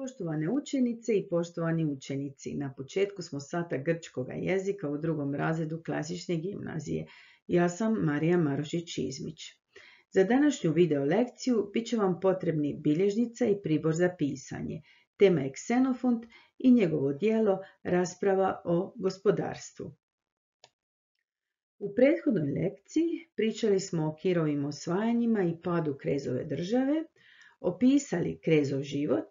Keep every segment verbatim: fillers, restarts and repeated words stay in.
Poštovane učenice i poštovani učenici, na početku smo sata grčkoga jezika u drugom razredu klasične gimnazije. Ja sam Marija Marošić-Izmić. Za današnju video lekciju bit će vam potrebni bilježnica i pribor za pisanje. Tema je Ksenofont i njegovo djelo Rasprava o gospodarstvu. U prethodnoj lekciji pričali smo o Kirovim osvajanjima i padu Krezove države, opisali Krezov život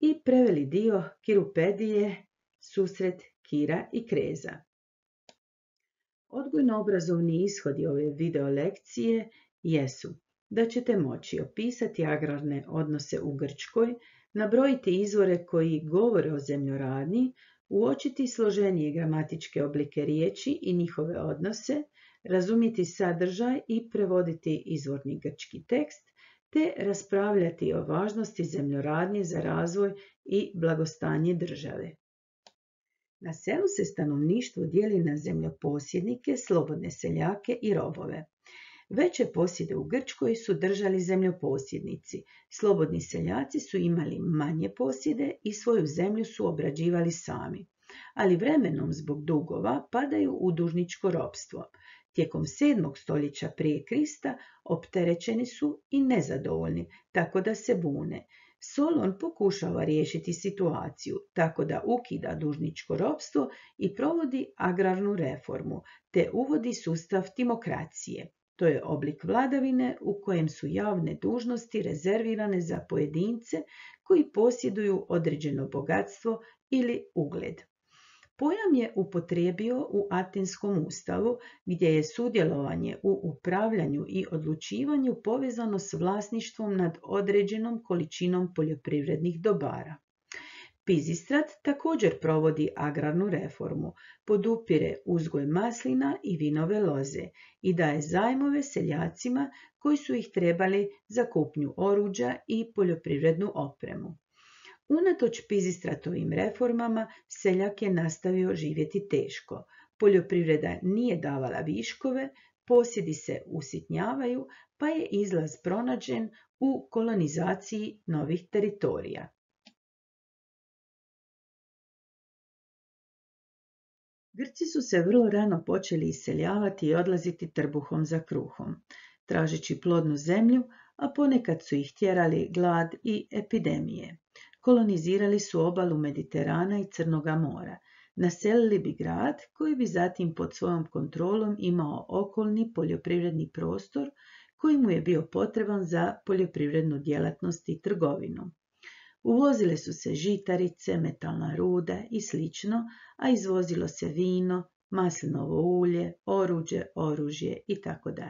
i preveli dio Kirupedije, susret Kira i Kreza. Odgojno-obrazovni ishodi ove video lekcije jesu da ćete moći opisati agrarne odnose u Grčkoj, nabrojiti izvore koji govore o zemljoradnji, uočiti složenije gramatičke oblike riječi i njihove odnose, razumjeti sadržaj i prevoditi izvorni grčki tekst, te raspravljati o važnosti zemljoradnje za razvoj i blagostanje države. Na selu se stanovništvo dijeli na zemljoposjednike, slobodne seljake i robove. Veće posjede u Grčkoj su držali zemljoposjednici. Slobodni seljaci su imali manje posjede i svoju zemlju su obrađivali sami, ali vremenom zbog dugova padaju u dužničko ropstvo. Tijekom sedmog stoljeća prije Krista opterećeni su i nezadovoljni, tako da se bune. Solon pokušava riješiti situaciju, tako da ukida dužničko ropstvo i provodi agrarnu reformu, te uvodi sustav timokracije. To je oblik vladavine u kojem su javne dužnosti rezervirane za pojedince koji posjeduju određeno bogatstvo ili ugled. Pojam je upotrijebio u Atenskom ustavu, gdje je sudjelovanje u upravljanju i odlučivanju povezano s vlasništvom nad određenom količinom poljoprivrednih dobara. Pizistrat također provodi agrarnu reformu, podupire uzgoj maslina i vinove loze i daje zajmove seljacima koji su ih trebali za kupnju oruđa i poljoprivrednu opremu. Unatoč Pizistratovim reformama, seljak je nastavio živjeti teško. Poljoprivreda nije davala viškove, posjedi se usitnjavaju, pa je izlaz pronađen u kolonizaciji novih teritorija. Grci su se vrlo rano počeli iseljavati i odlaziti trbuhom za kruhom, tražeći plodnu zemlju, a ponekad su ih tjerali glad i epidemije. Kolonizirali su obalu Mediterana i Crnoga mora. Naselili bi grad koji bi zatim pod svojom kontrolom imao okolni poljoprivredni prostor koji mu je bio potreban za poljoprivrednu djelatnost i trgovinu. Uvozile su se žitarice, metalna ruda i slično, a izvozilo se vino, maslinovo ulje, oruđe, oružje itd.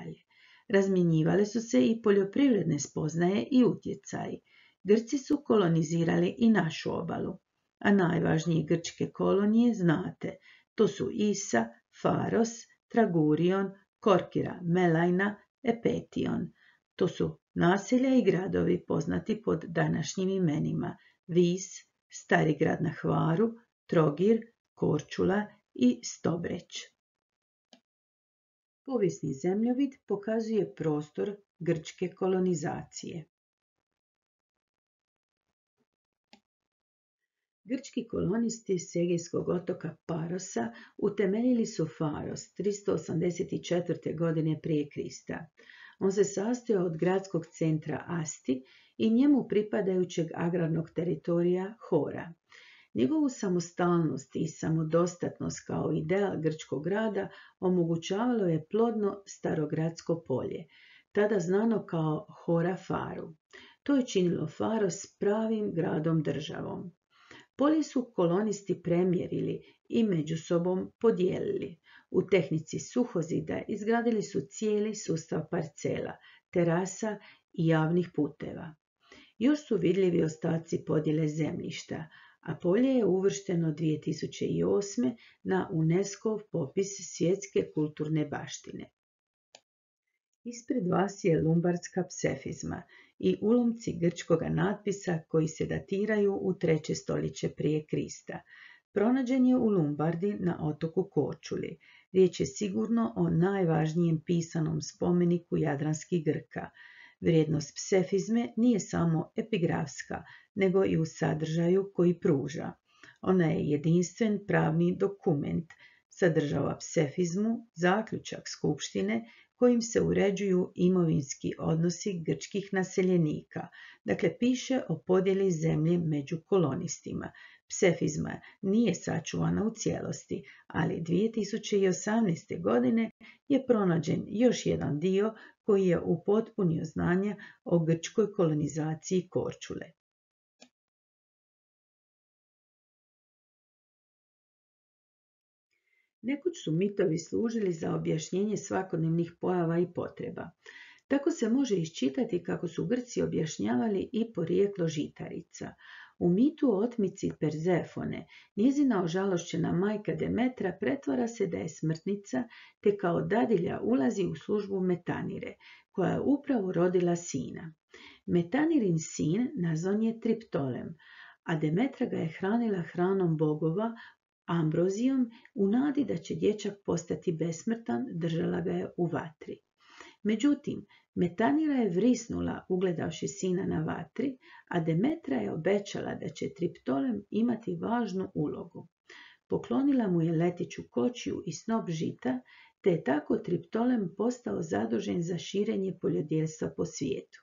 Razmjenjivale su se i poljoprivredne spoznaje i utjecaji. Grci su kolonizirali i našu obalu, a najvažnije grčke kolonije znate, to su Isa, Faros, Tragurion, Korkira, Melajna, Epetion. To su naselja i gradovi poznati pod današnjim imenima Vis, Stari grad na Hvaru, Trogir, Korčula i Stobreć. Povijesni zemljovid pokazuje prostor grčke kolonizacije. Grčki kolonisti s Egejskog otoka Parosa utemeljili su Faros tristo osamdeset četvrte. godine prije Krista. On se sastojao od gradskog centra Asti i njemu pripadajućeg agrarnog teritorija Hora. Njegovu samostalnost i samodostatnost kao ideal grčkog grada omogućavalo je plodno starogradsko polje, tada znano kao Hora Faru. To je činilo Faros pravim gradom državom. Polje su kolonisti premjerili i među sobom podijelili. U tehnici suhozida izgradili su cijeli sustav parcela, terasa i javnih puteva. Još su vidljivi ostaci podjele zemljišta, a polje je uvršteno dvije tisuće osme. na UNESCO-ov popis svjetske kulturne baštine. Ispred vas je lumbardska psefizma i ulomci grčkoga natpisa koji se datiraju u treće stoljeće prije Krista. Pronađen je u Lumbardi na otoku Korčuli. Riječ je sigurno o najvažnijem pisanom spomeniku jadranskih Grka. Vrijednost psefizme nije samo epigrafska, nego i u sadržaju koji pruža. Ona je jedinstven pravni dokument, sadržava psefizmu, zaključak skupštine kojim se uređuju imovinski odnosi grčkih naseljenika, dakle piše o podjeli zemlje među kolonistima. Psefizma nije sačuvana u cijelosti, ali dvije tisuće osamnaeste. godine je pronađen još jedan dio koji je upotpunio znanja o grčkoj kolonizaciji Korčule. Nekoć su mitovi služili za objašnjenje svakodnevnih pojava i potreba. Tako se može iščitati kako su Grci objašnjavali i porijeklo žitarica. U mitu o otmici Perzefone, njezina ožalošćena majka Demetra pretvara se da je smrtnica, te kao dadilja ulazi u službu Metanire, koja je upravo rodila sina. Metanirin sin nazvan je Triptolem, a Demetra ga je hranila hranom bogova, ambrozijom, u nadi da će dječak postati besmrtan, držala ga je u vatri. Međutim, Metanira je vrisnula ugledavši sina na vatri, a Demetra je obećala da će Triptolem imati važnu ulogu. Poklonila mu je letiću kočiju i snop žita, te je tako Triptolem postao zadužen za širenje poljodjelstva po svijetu.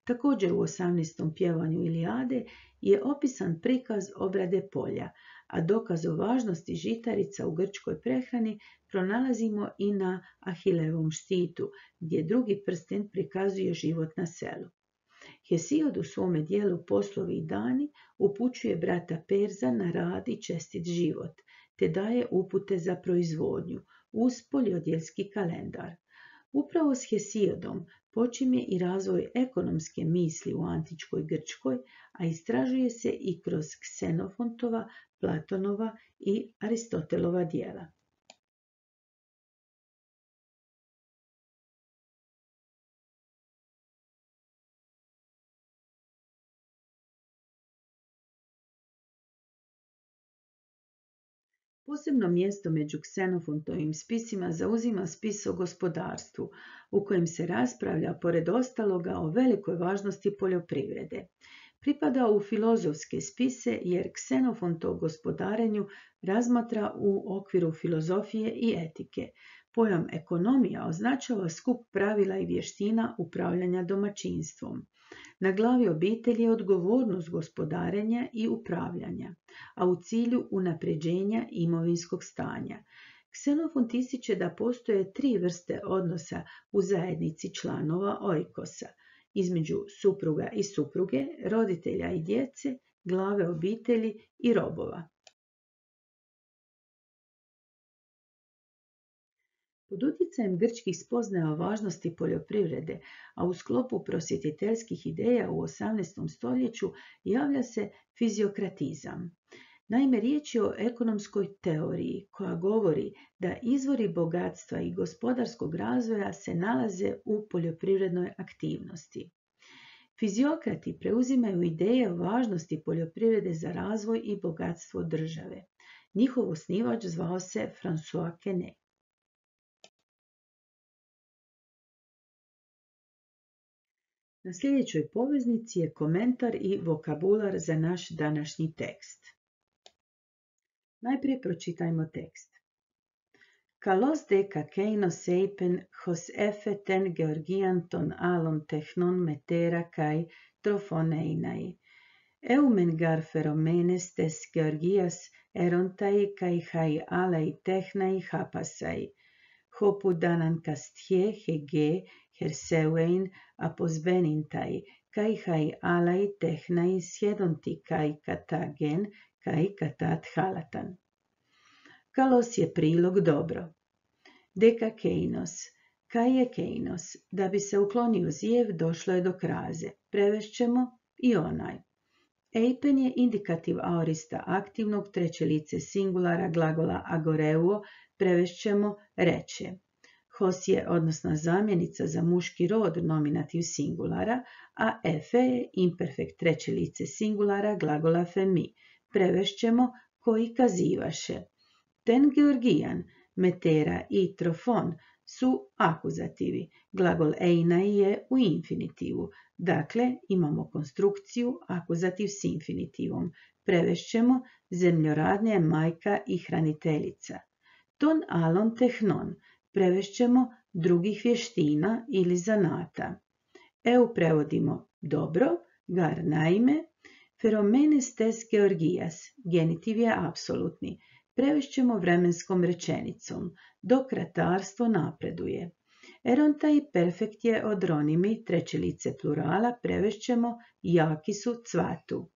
Također u osamnaestom pjevanju Ilijade je opisan prikaz obrade polja, a dokaz o važnosti žitarica u grčkoj prehrani pronalazimo i na Ahilevom štitu, gdje drugi prsten prikazuje život na selu. Hesiod u svome dijelu Poslovi i dani upućuje brata Perza na rad i čestit život, te daje upute za proizvodnju uz poljodjelski kalendar. Upravo s Hesiodom počinje i razvoj ekonomske misli u antičkoj Grčkoj, a istražuje se i kroz Ksenofontova, Platonova i Aristotelova djela. Posebno mjesto među Ksenofontovim spisima zauzima spis o gospodarstvu, u kojem se raspravlja, pored ostaloga, o velikoj važnosti poljoprivrede. Pripada u filozofske spise jer Ksenofont o gospodarenju razmatra u okviru filozofije i etike. Pojam ekonomija označava skup pravila i vještina upravljanja domaćinstvom. Na glavi obitelji je odgovornost gospodarenja i upravljanja, a u cilju unapređenja imovinskog stanja. Ksenofont ističe da postoje tri vrste odnosa u zajednici članova oikosa, između supruga i supruge, roditelja i djece, glave obitelji i robova. Pod utjecajem grčkih spoznaja o važnosti poljoprivrede, a u sklopu prosvjetiteljskih ideja u osamnaestom stoljeću javlja se fiziokratizam. Naime, riječ je o ekonomskoj teoriji koja govori da izvori bogatstva i gospodarskog razvoja se nalaze u poljoprivrednoj aktivnosti. Fiziokrati preuzimaju ideje o važnosti poljoprivrede za razvoj i bogatstvo države. Njihov osnivač zvao se François Quesnay. Na sljedećoj poveznici je komentar i vokabular za naš današnji tekst. Najprije pročitajmo tekst. Kalos de kakeinos eipen hos efe ten georgian ton alon technon metera kai trofoneinai. Eumen gar feromenes tes georgias erontai kai hai alai technai hapasai. Hopu danan kastje hege herseuein aposbenintai, kai hai alai technai sjedonti kai katagen, kai katat halatan. Kalos je prilog dobro. Deka keinos. Kai je keinos. Da bi se uklonio zijev, došlo je do kraze. Prevešćemo i onaj. Eipen je indikativ aorista aktivnog treće lice singulara glagola agoreuo, prevešćemo reče. Hos je odnosna zamjenica za muški rod nominativ singulara, a efe je imperfekt treće lice singulara glagola femi. Prevešćemo koji kazivaše. Ten Georgijan, Metera i Trofon su akuzativi. Glagol einai je u infinitivu. Dakle, imamo konstrukciju akuzativ s infinitivom. Prevešćemo zemljoradnja je majka i hraniteljica. Ton alon tehnon. Prevešćemo drugih vještina ili zanata. Eu prevodimo dobro, gar naime, feromenes tes georgijas, genitiv je apsolutni. Prevešćemo vremenskom rečenicom, dok ratarstvo napreduje. Erontaj perfekt je odronimi, treće lice plurala, prevešćemo jaki su cvatu.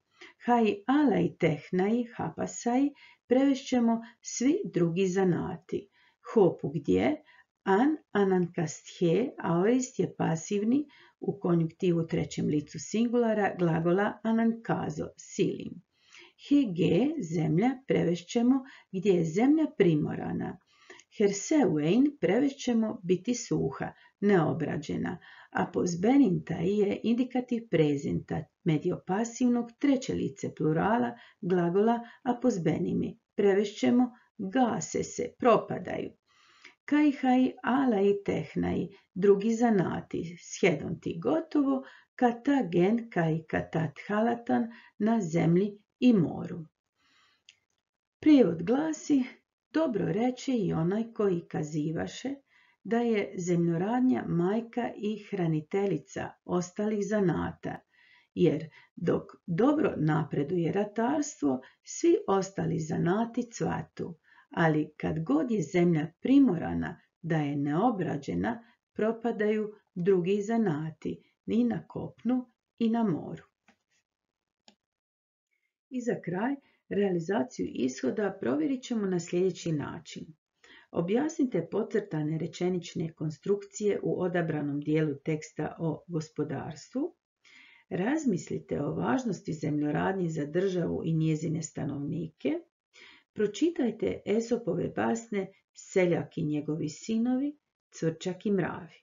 Hai alai tehnai, hapasai, prevešćemo svi drugi zanati. Hopu gdje, an anankasthe, aorist je pasivni u konjuktivu trećem licu singulara glagola anankazo, silim. Hege, zemlja, prevešćemo gdje je zemlja primorana. Herseuein prevešćemo biti suha, neobrađena, a pozbenintai je indikativ prezenta mediopasivnog treće lice plurala glagola apozbenimi. Prevešćemo gase se, propadaju. Kai hai alai tehnai, drugi zanati, sjedonti gotovo, kata gen kai katat halatan na zemlji i moru. Prijevod glasi: dobro reče i onaj koji kazivaše da je zemljoradnja majka i hraniteljica ostalih zanata, jer dok dobro napreduje ratarstvo, svi ostali zanati cvatu, ali kad god je zemlja primorana da je neobrađena, propadaju drugi zanati, i na kopnu i na moru. I za kraj, realizaciju ishoda provjerit ćemo na sljedeći način. Objasnite podcrtane rečenične konstrukcije u odabranom dijelu teksta o gospodarstvu. Razmislite o važnosti zemljoradnje za državu i njezine stanovnike. Pročitajte Esopove basne Seljak i njegovi sinovi, Cvrčak i mravi.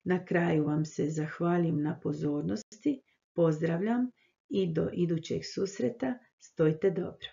Na kraju vam se zahvalim na pozornosti, pozdravljam i do idućeg susreta, stojte dobro.